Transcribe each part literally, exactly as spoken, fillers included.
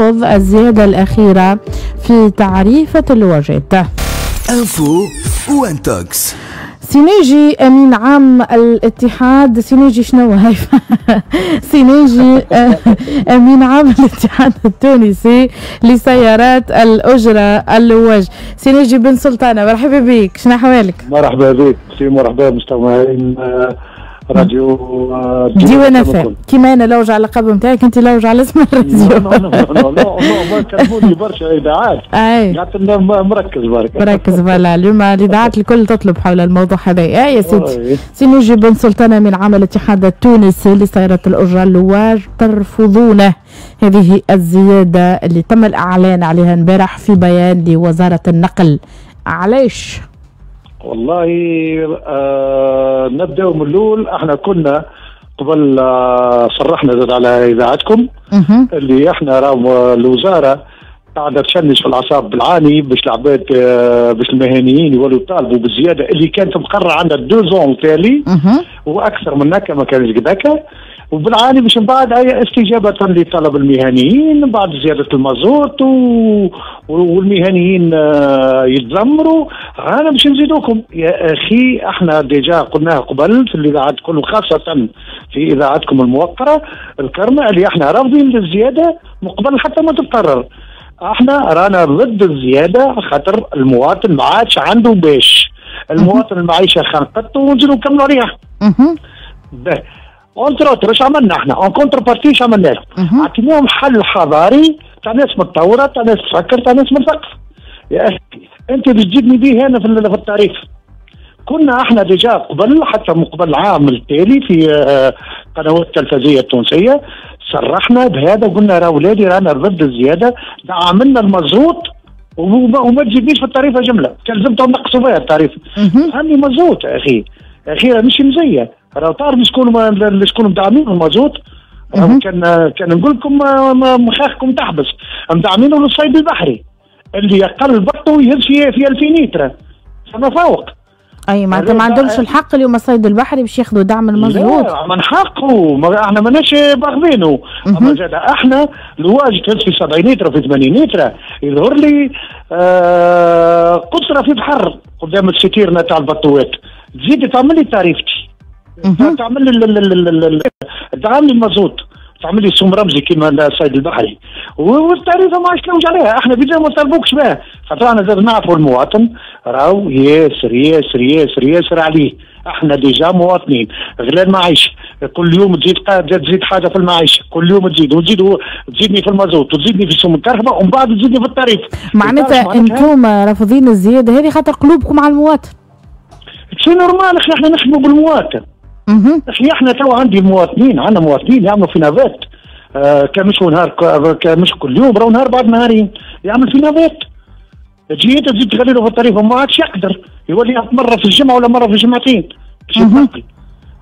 الزيادة الأخيرة في تعريفة اللواجات. info و intox. سي ناجي امين عام الاتحاد، سي ناجي شنو هاي؟ سي ناجي امين عام الاتحاد التونسي لسيارات الاجرة اللواج، سي ناجي بن سلطانه، مرحبا بك، شنو احوالك؟ مرحبا بك سي، مرحبا مستمعين راديو ديوان اف. كيما انا لوج على اللقب نتاعك، انت لوج على اسم الراديو. non non non، ما كلموني برشا اذاعات، قعدت مركز برك. مركز، voilà. اليوم الاذاعات الكل تطلب حول الموضوع هذا. يا سيدي، سي ناجي بن سلطان امين عام الاتحاد التونسي لسيارات الاجرة اللواج، ترفضون هذه الزيادة اللي تم الاعلان عليها امبارح في بيان لوزارة النقل، علاش؟ والله آه نبداو من الاول. احنا كنا قبل آه صرحنا زاد على اذاعتكم اللي احنا راهو الوزارة قاعدة تشنج في الاعصاب بالعاني باش العباد آه باش المهنيين يولوا يطالبوا بالزيادة اللي كانت مقررة عندها deux ans تالي واكثر من هكا، ما كانش قد هكا، وبالعاني باش من بعد هي استجابة لطلب المهنيين بعد زيادة المازوت و... والمهنيين آه، يتذمروا، رانا باش نزيدوكم. يا اخي، احنا déjà قلناها قبل في الاذاعات كل، خاصة في اذاعتكم الموقرة الكرمة، اللي احنا رافضين للزيادة من قبل حتى ما تتقرر. احنا رانا ضد الزيادة خاطر المواطن ما عادش عنده باش، المواطن المعيشة خنقته ونزيدوا نكملوا عليها. entre autres اش عملنا احنا en contrepartie؟ اش عملنا لهم؟ عطيناهم حل حضاري تاع ناس متطوره، تاع ناس تفكر، تاع ناس مثقفه. يا اخي، انت باش تجيبني به هنا في ال tarif، كنا احنا déjà قبل حتى من قبل العام التالي في آه، قنوات التلفزيونية التونسية صرحنا بهذا وقلنا راه ولادي رانا ضد الزياده، دعمنا المازوت وما, وما تجيبنيش في التعريفه جمله، كان لزمتهم نقصوا فيها ال tarif. هاني مازوت يا اخي، يا اخي مش مزيه، راه تعرف شكون شكون مدعمين المازوت؟ كان كان نقول لكم مخاخكم تحبس. مدعمينه للصيد البحري اللي يقل bateau يهز في في ألفين لتر فما فوق. اي، معناتها ما عندهمش الحق اليوم الصيد البحري باش ياخذوا دعم المازوت؟ لا، من حقه، ما احنا ماناش باغضينه، اما زاد احنا لواج تهز في سبعين لتر، في ثمانين لتر، يظهر لي آه قطرة في بحر قدام ال citerne تاع البطوات، تزيد تعمل لي تعريفتي، تعمل لي تعمل لي المازوت، تعمل لي سوم رمزي كيما الصيد البحري، والتعريفه ما عادش تلوج عليها. احنا بيدنا ما نطالبوكش بها خاطر احنا زاد نعرفوا المواطن راهو ياسر ياسر ياسر ياسر عليه. احنا déjà مواطنين غلا المعيشه، كل يوم تزيد تزيد حاجة في المعيشه، كل يوم تزيد وتزيد، تزيدني في المازوت وتزيدني في سوم الكرهبه ومن بعد تزيدني في ال tarif. معناتها انتم رافضين الزيادة هذه خاطر قلوبكم على المواطن. c'est normal اخي، احنا نخدموا بالمواطن. اخي، احنا تو عندي مواطنين، عندنا مواطنين يعملوا في navette، آه كان مش نهار، كان مش كل يوم، راهو نهار بعد نهارين يعمل في navette. تجي انت تزيد تغلي له في ال tarif، ما عادش يقدر، يولي مرة في الجمعة ولا مرة في الجمعتين باش يتنقل.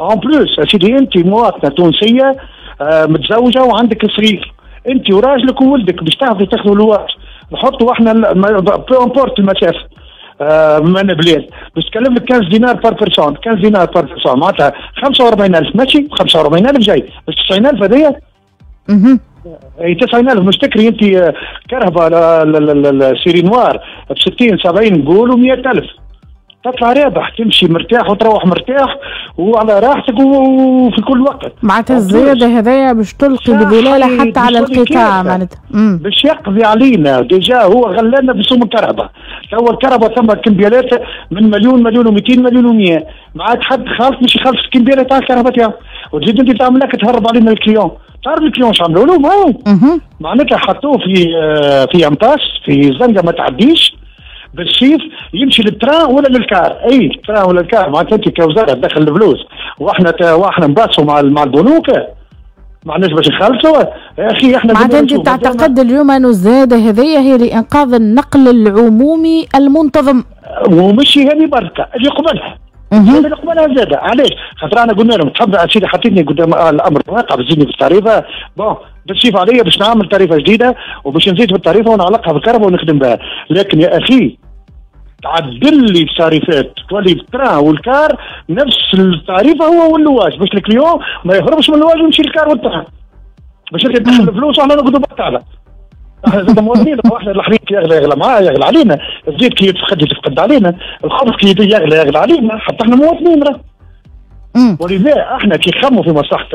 en plus سيدي، انت مواطنه تونسية آه متزوجة وعندك صغير، انت وراجلك وولدك باش تاخذوا تاخذوا لواج، نحطوا احنا peu importe المسافة آه من بلاد، باش تكلم لك خمسة عشر دينار par personne، خمسة عشر دينار par personne معناتها خمسة وأربعين ألف ماشي خمسة وأربعين ألف جاي، باش تسعين ألف هذيا. اي تسعين ألف مش تكري انت آه، كرهبه série noire ب ستين سبعين نقولوا مية ألف، تطلع رابح، تمشي مرتاح وتروح مرتاح وعلى راحتك وفي كل وقت. معناتها الزيادة هذايا باش تلقي بظلالها حتى على القطاع معناتها. باش يقضي علينا. déjà هو غلانا بسوم الكرهبه، تو الكرهبه ثم كمبيالات من مليون، مليون ومئتين، مليون ومية، ما عاد حد خالص مش يخلص الكمبياله تاع الكرهبه تاعو، وتزيد انت تعمل لك تهرب علينا ال client. تعرف ال client شو عملوا له؟ ما معناتها حطوه في آه، في impasse، في زنقه ما تعديش، بالسيف يمشي لل train ولا لل car، اي ال train ولا ال car. معناتها انت كوزارة تدخل الفلوس واحنا واحنا نباصوا مع مع البنوك، ما عندناش باش نخلصوا. يا اخي احنا معناتها انت تعتقد اليوم انه الزيادة هذه هي لانقاذ النقل العمومي المنتظم؟ ومش هذه بركه، اللي قبلها، اللي قبلها زاد. علاش؟ خاطر انا قلنا لهم تحب سيدي حطيتني قدام الامر الواقع، بتزيدني في التعريفه، bon بالسيف عليا باش نعمل تعريفه جديدة وباش نزيد في التعريفه ونعلقها بالكرهبه ونخدم بها، لكن يا اخي تعدل لي التعريفات، تولي ال train وال car نفس التعريفه هو واللواج، باش ال client ما يهربش من اللواج ويمشي لل car وال train، باش انت تدخل الفلوس واحنا نقعدوا بطاله. احنا زاد مواطنين، احنا الحليب يغلى يغلى معاه يغلى علينا، الزيت كي يتفقد يتفقد علينا، الخبز كي يغلى يغلى علينا، حتى احنا مواطنين راه. ولذا احنا كي نخموا في مصلحة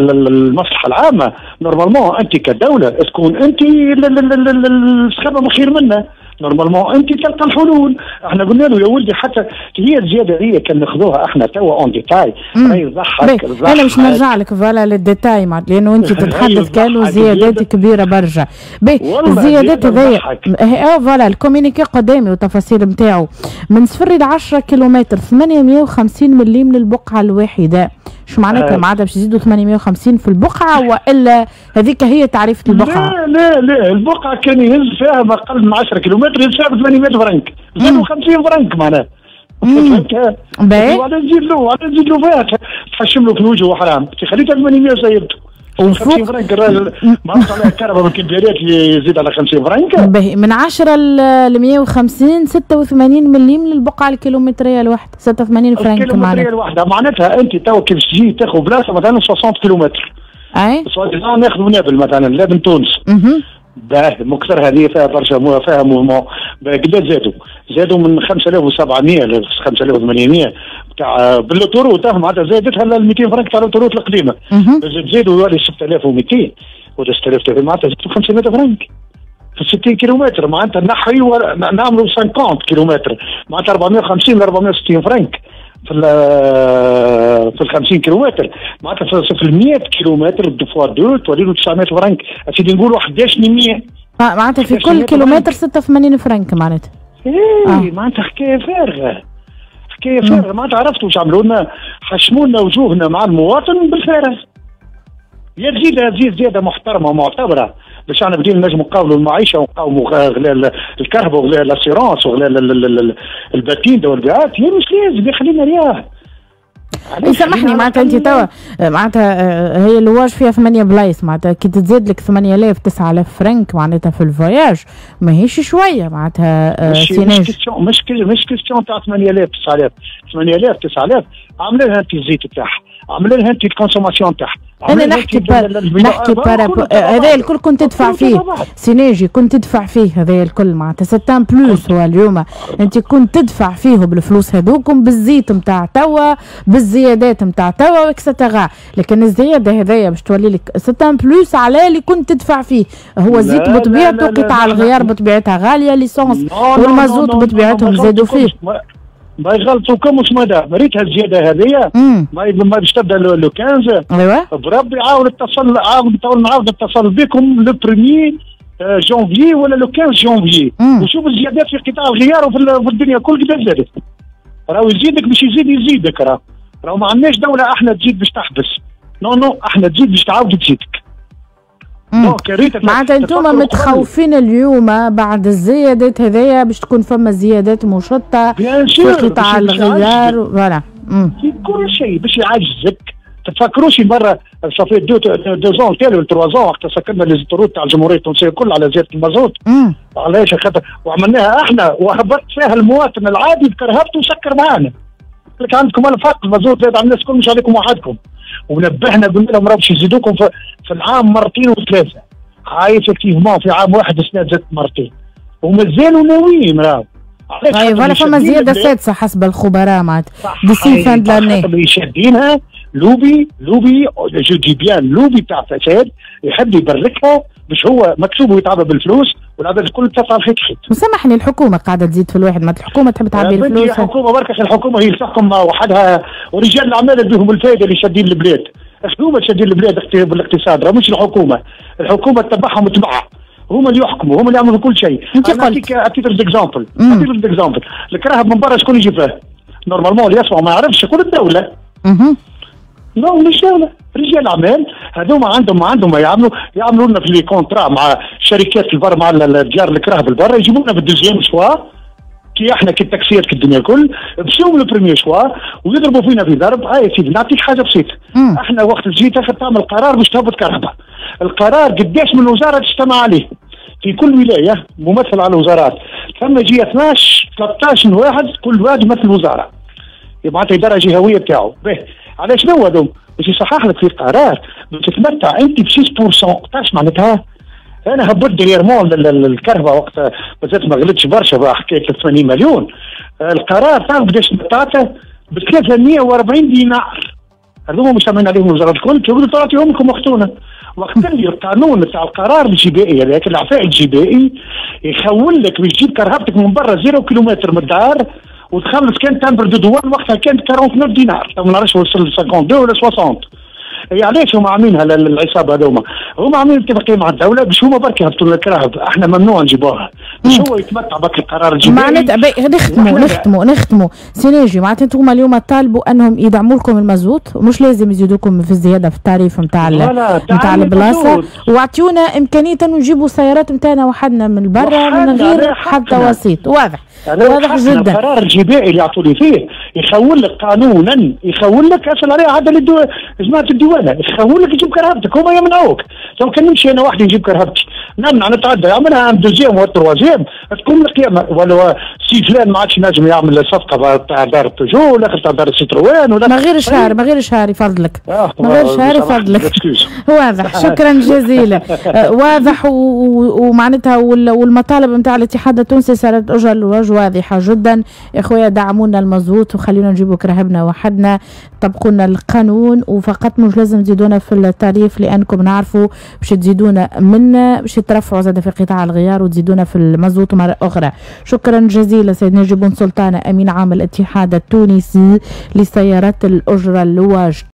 المصلحة العامة normalement انت كدولة تكون انت السخابه خير منا، normalement انت تلقى الحلول. احنا قلنا له يا ولدي حتى هي الزيادة هي كان ناخذوها احنا توا en détail راهي تضحك. انا باش نرجع لك voilà لل détail معناتها لانه انت تتحدث كانوا زيادات كبيرة برشا. باهي الزيادات هذيا اه voilà ال communiqué قدامي والتفاصيل نتاعو من صفر الى عشرة كيلومتر ثمانمية وخمسين مليم للبقعة الواحدة. شو معناتها؟ معناتها باش يزيدوا ثمانمية وخمسين في البقعة والا هذيك هي تعريفه البقعة؟ لا لا لا، البقعة كان يهز فيها ما اقل من عشرة كيلومتر يهز فيها ب ثمانمية فرنك، زادوا خمسين فرنك معناها. فهمتها؟ وعلى نزيد له وعلى نزيد له فيها تحشم له في وجهه حرام، خليتها ثمانمية وسيبته. خمسين فرنك الراجل ما عرفش عليها الكهرباء بالكبيرات يزيد على خمسين فرنك. باهي من عشرة ل مية وخمسين ستة وثمانين مليم للبقعة الكيلومتريه الواحدة، ستة وثمانين فرنك معناتها. الكيلومتريه الواحدة معناتها انت تو كيف تجي تاخذ بلاصة مثلا ستين كيلومتر. اي ناخذ نابل مثلا لا من تونس. باهي مكثر هذه فيها برشا فيها mouvement، قداش زادوا؟ زادوا من خمسة آلاف وسبعمية ل خمسة آلاف وثمانمية تاع بال l'autoroute معناتها زادتها ل مئتين فرنك تاع l'autoroute القديمة. زادوا يولي ستة آلاف ومئتين ولا ستة آلاف معناتها زادوا خمسمية فرنك في ستين كيلومتر، معناتها نحي نعملوا خمسين كيلومتر معناتها أربعمية وخمسين ل أربعمية وستين فرنك في ال في ال خمسين كيلومتر، معناتها في ال مية كيلومتر fois deux تولي له تسعمية فرنك، اسيدي نقولوا إحداش مية. اه معناتها في كل كيلومتر ستة وثمانين فرنك معناتها. ايه آه. معناتها حكاية فارغة، حكاية فارغة، معناتها عرفتوا واش عملوا لنا؟ حشموا لنا وجوهنا مع المواطن بالفارغ. يا تزيد تزيد زيادة محترمه ومعتبره باش احنا بدينا نجموا نقاوموا المعيشة ونقاوموا غلاء الكهرباء وغلاء ال assurance وغلاء ال patente والبيعات، يا مش لازم يا خلينا رياح. سامحني معناتها انت توا معناتها هي اللواج فيها ثمانية بلايص، معناتها كي تزيد لك ثمانية آلاف تسعة آلاف فرنك معناتها في ال voyage ماهيش شوية معناتها. مش مش question مش مش question تاع ثمانية آلاف تسعة آلاف، ثمانية آلاف تسعة آلاف عامله لها انت الزيت تاعها، عامله لها انت ال consommation تاعها. انا نحكي par نحكي par هذا الكل كنت تدفع فيه سي ناجي، كنت تدفع فيه هذا الكل معناتها c'est un plus. هو اليوم انت كنت تدفع فيه بالفلوس هذوكم بالزيت نتاع توا بالزيادات نتاع توا et cetera، لكن الزيادة هذايا باش تولي لك c'est un plus على اللي كنت تدفع فيه. هو الزيت بطبيعته قطع الغيار بطبيعتها غالية، l'essence والمازوت بطبيعتهم زادوا فيه. ما يغلطوكمش مدام ريتها الزيادة هذيا ما ما باش تبدا le خمسطاش. ايوا بربي عاود اتصل عاود نعاود نتصل بكم le premier janvier ولا le خمسطاش جونفي وشوف الزيادات في قطاع الغيار وفي الدنيا كل قداش زادت. راهو يزيدك باش يزيد يزيدك، راه راهو ما عندناش دولة احنا تزيد باش تحبس، non non احنا تزيد باش تعاود تزيدك. معناتها انتم متخوفين اليوم بعد الزيادات هذيا باش تكون فما زيادات مشطه في قطاع الغيار voilà في كل شيء باش يعجزك. تتفكروش مرة ça fait deux deux ans تالي trois ans وقت سكرنا les autoroutes تاع الجمهورية التونسية الكل على زيادة المازوت. علاش؟ خاطر وعملناها احنا وهبط فيها المواطن العادي بكرهبته وسكر معانا. لك عندكم الفرق المازوت زاد على الناس الكل مش عليكم وحدكم. ونبهنا قلنا لهم راه باش يزيدوكم في, في العام مرتين وثلاثة. هاي effectivement في عام واحد السنة زادت مرتين ومازالوا ناويين راهو. اي voilà فما زيادة سادسة حسب الخبراء معناتها d'ici fin de l'année. اللي شادينها lobby lobby je dis bien lobby تاع فساد يحب يبركها باش هو مكسوب ويتعبى بالفلوس والعباد الكل تطلع الخيط خيط. وسامحني الحكومة قاعدة تزيد في الواحد، ما الحكومة تحب تعبي الفلوس. الحكومة بركة الحكومة هي تحكم وحدها ورجال الاعمال اللي بهم الفائدة اللي شادين البلاد. هما شادين البلاد بالاقتصاد راه مش الحكومة، الحكومة تتبعهم تبعها، هما اللي يحكموا، هما اللي يعملوا كل شيء. انت قلت à titre d'exemple، à titre d'exemple، الكراهب من برا شكون يجي فيه؟ normalement اللي يسمع ما يعرفش يقول الدولة. اها non مش دولة، رجال اعمال هذوما عندهم ما عندهم ما يعملوا، يعملوا لنا في les contrats مع شركات البر مع ديار الكراهب البر، يجيبوا لنا في ال deuxième choix كي احنا كي التاكسيات كي الدنيا الكل، بسوم le premier choix ويضربوا فينا في ضرب. هاي يا سيدي نعطيك حاجة بسيطة، احنا وقت تجي تاخذ تعمل قرار باش تهبط كهرباء، القرار قداش من وزارة تجتمع عليه في كل ولاية ممثل على الوزارات، ثم يجي اثناش ثلاثطاش واحد كل واحد يمثل وزارة، معناتها ادارة جهويه بتاعه. باهي علاش شنو هذوم؟ باش يصحح لك في قرار باش تتمتع انت ب ستة بالمية، تعرف معناتها؟ انا هبطت dernièrement الكرهبه وقت مازالت ما غلتش برشا، حكاية ثمانين مليون. القرار تعرف قداش تعطى؟ ب ثلاثمية وأربعين دينار. هذوما مش عاملين عليهم وزارة الكل، تقولوا تعطيهم لكم وقتونا. وقت اللي القانون تاع القرار الجبائي هذاك العفاء الجبائي يخول لك باش تجيب كرهبتك من برا zéro كيلومتر من الدار وتخلص كان timbre de douane، وقتها كانت تسعة وأربعين دينار، ما نعرفش وصل اثنين وخمسين ولا ستين. هي علاش هما عاملينها العصابة هذوما؟ هما عاملين اتفاقية مع الدولة باش هما برك يهبطوا لنا الكراهب، احنا ممنوع نجيبوها، باش هو يتمتع بك القرار الجبائي. معناتها نختموا نختموا نختموا سي ناجي، معناتها انتم اليوم طالبوا انهم يدعموا لكم المازوت، مش لازم يزيدوكم في الزيادة في ال tarif نتاع نتاع البلاصة، واعطيونا امكانية انه نجيبوا السيارات نتاعنا وحدنا من برا من غير حتى وسيط. واضح واضح جدا. القرار الجبائي اللي يعطوا لي فيه يخول لك قانونا، يخول لك اصل عليه عاد جماعة الديوانه، يخول لك تجيب كرهبتك، هما يمنعوك. لو كان نمشي انا وحدي نجيب كرهبتي نمنع نتعدى يعملها un deuxième و troisième تكون القيامة، ولا سي فلان ما عادش نجم يعمل صفقة تاع دار بيجو ولا تاع دار سيتروان ولا ما غير شهر، ما غير شهر يفضلك، ما غير شهر يفضلك. واضح، شكرا جزيلا. واضح ومعناتها والمطالب نتاع الاتحاد التونسي صارت اجل واضحة جدا. يا خويا دعمونا المزوت وخلينا نجيبوا كرهبنا وحدنا، طبقوا لنا القانون وفقط، مش لازم تزيدونا في ال tarif لانكم نعرفوا باش تزيدونا منا باش ترفعوا زاد في قطاع الغيار وتزيدونا في المازوت مرة اخرى. شكرا جزيلا سيد نجيب بن سلطانه، امين عام الاتحاد التونسي لسيارات الاجرة اللواج.